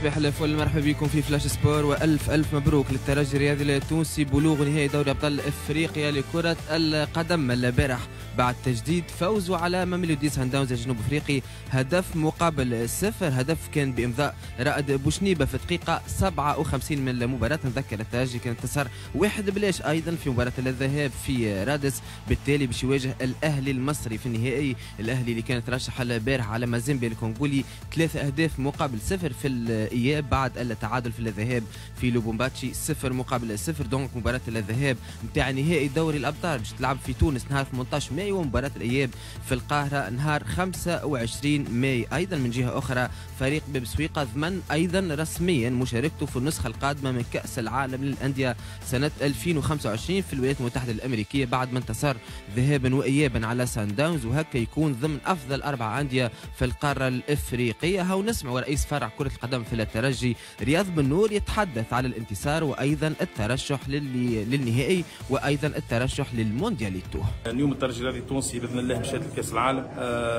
صباح الفل، مرحبا بكم في Flash Sport، والف الف مبروك للترجي الرياضي التونسي بلوغ نهائي دوري ابطال افريقيا لكرة القدم البارح بعد تجديد فوزه على ماميلودي سان داونز الجنوب افريقي 0-1. هدف كان بامضاء رائد بوشنيبه في دقيقة 57 من المباراة. نذكر الترجي كان انتصر 1-0 ايضا في مباراة الذهاب في رادس، بالتالي باش يواجه الاهلي المصري في النهائي. الاهلي اللي كان ترشح البارح على مازيمبي الكونغولي 3-0 في الإياب بعد التعادل في الذهاب في لوبومباتشي 0-0. donc مباراة الذهاب نتاع نهائي دوري الأبطال باش تلعب في تونس نهار 18 ماي، ومباراة الإياب في القاهرة نهار 25 ماي. أيضا من جهة أخرى فريق باب سويقة ضمن أيضا رسميا مشاركته في النسخة القادمة من كأس العالم للأندية سنة 2025 في الولايات المتحدة الأمريكية بعد ما انتصر ذهابا وإيابا على سان داونز، وهكا يكون ضمن أفضل 4 أندية في القارة الإفريقية. هاو نسمع رئيس فرع كرة القدم في الترجي رياض بن نور يتحدث على الانتصار وايضا الترشح للنهائي وايضا الترشح للموندياليتو. اليوم الترجي الرياضي التونسي باذن الله مشات لكاس العالم،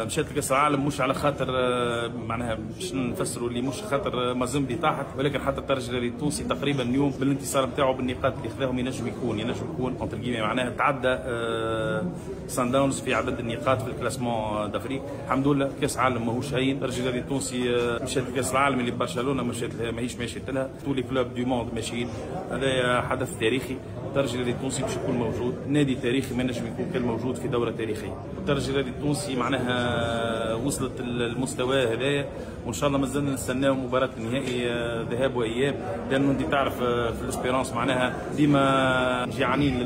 مشات لكاس العالم مش على خاطر معناها باش نفسروا اللي مش خاطر مازيمبي طاحت، ولكن حتى الترجي الرياضي التونسي تقريبا اليوم بالانتصار نتاعو بالنقاط اللي خذاهم ينجم يكون معناها تعدى سان داونز في عدد النقاط في ال classement d'Afrique. الحمد لله كاس عالم ماهوش هين. الترجي الرياضي التونسي مشات لكاس العالم اللي برشلونة مشات لها، ماهيش ماشية لها، tous les clubs du monde ماشيين. هذا حدث تاريخي. الترجي الرياضي التونسي باش يكون موجود، نادي تاريخي ما نجم يكون كان موجود في دوره تاريخية. الترجي الرياضي التونسي معناها وصلت المستوى هذايا، وان شاء الله مازلنا نستناو مباراة النهائي ذهاب واياب، لانه انت تعرف في ال Espérance معناها ديما جيعانين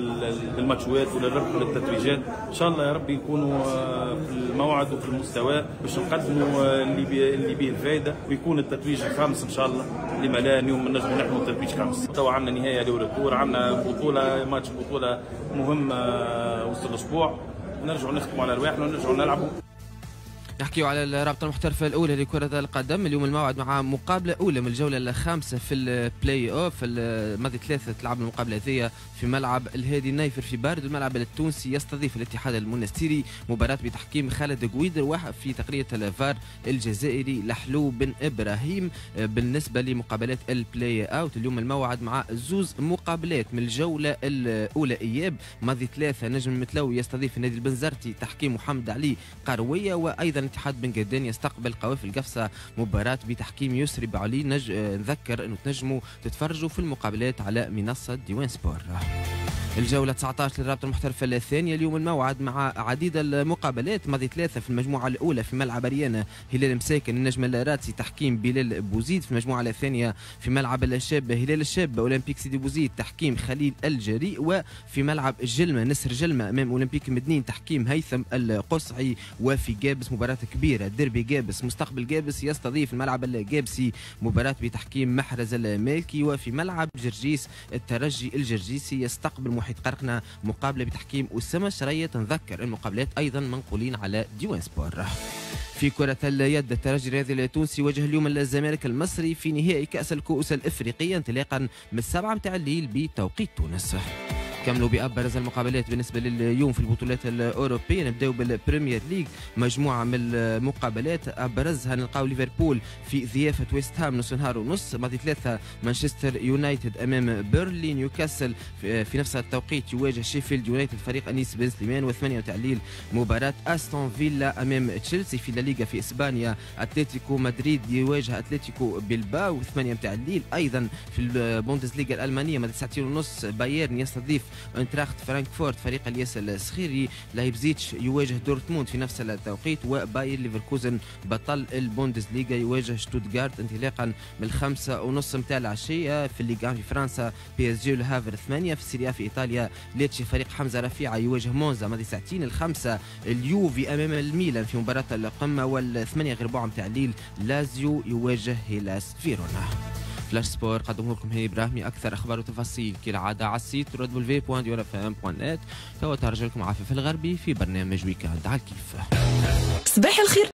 للماتشوات وللربح وللتتويجات. ان شاء الله يا ربي نكونوا في الموعد وفي المستوى باش نقدموا اللي به الفائدة، ويكون التتويج الخامس ان شاء الله. لما لا اليوم نجموا نحن تتويج خامس. توا عندنا نهاية aller-retour، عندنا بطوله ماتش بطوله مهم وسط الاسبوع، نرجعوا نختموا على رواحنا ونرجعوا نلعبوا. نحكيو على الرابطة المحترفة الأولى لكرة القدم. اليوم الموعد مع مقابلة أولى من الجولة الخامسة في البلاي أوف. الماضي 3 تلعب المقابلة هذه في ملعب الهادي النايفر في بارد. الملعب التونسي يستضيف الاتحاد المونستيري، مباراة بتحكيم خالد قويدر في تقنية الفار الجزائري لحلو بن إبراهيم. بالنسبة لمقابلات ال play-out اليوم الموعد مع زوز مقابلات من الجولة الأولى إياب. ماضي 3 نجم المتلوي يستضيف النادي البنزرتي تحكيم محمد علي قروية، وأيضا اتحاد بن قردان يستقبل قوافل قفصة مباراة بتحكيم يسري بعلي. نذكر انه تنجموا تتفرجوا في المقابلات على منصة ديوان سبور. الجولة 19 للرابطة المحترفة الثانية اليوم الموعد مع عديد المقابلات. ماضي 3 في المجموعة الأولى في ملعب أريانا هلال مساكن النجم الراتسي تحكيم بلال بوزيد. في المجموعة الثانية في ملعب الشاب هلال الشاب أولمبيك سيدي بوزيد تحكيم خليل الجريء، وفي ملعب جلمة نسر جلمة أمام أولمبيك مدنين تحكيم هيثم القصعي. وفي جابس مباراة كبيرة ديربي جابس مستقبل جابس يستضيف الملعب الجابسي مباراة بتحكيم محرز المالكي. وفي ملعب جرجيس الترجي الجرجيسي يستقبل محيط قرقنا مقابلة بتحكيم أسامة شرية. نذكر المقابلات أيضا منقولين على ديوان سبور. في كرة اليد الترجي الرياضي التونسي واجه اليوم الزمالك المصري في نهائي كأس الكؤوس الإفريقية انطلاقا من 7 متاع الليل بتوقيت تونس. كملوا بأبرز المقابلات بالنسبة لليوم في البطولات الأوروبية. نبداو بال Premier League، مجموعة من المقابلات أبرزها نلقاو ليفربول في ضيافة ويست هام نص نهار ونص. ماضي 3 مانشستر يونايتد أمام بيرلي. نيوكاسل في نفس التوقيت يواجه شيفيلد يونايتد فريق أنيس بن سليمان. و8 تاع الليل مباراة أستون فيلا أمام تشيلسي. في لاليغا في إسبانيا أتلتيكو مدريد يواجه أتلتيكو بلباو 8 تاع الليل. أيضا في البوندسليغا الألمانية ماضي 2:30 بايرن يستضيف انتراخت فرانكفورت فريق الياس السخيري. لايبزيتش يواجه دورتموند في نفس التوقيت. وباير ليفركوزن بطل البوندسليغا يواجه شتوتغارت انطلاقا من 5:30 متاع العشية. في الليغا في فرنسا PSG الهافر 8. في ال Serie A في ايطاليا ليتشي فريق حمزة رفيعة يواجه مونزا ماضي ساعتين. 5 اليوفي امام الميلان في مباراة القمه. و7:45 متاع الليل لازيو يواجه هيلاس فيرونا. Flash Sport قدمه لكم هاني ابراهيمي. اكثر اخبار وتفاصيل كالعادة على ال site www.diwanfm.net. توا ترجع لكم عفاف الغربي في برنامج week-end على الكيف. صباح الخير.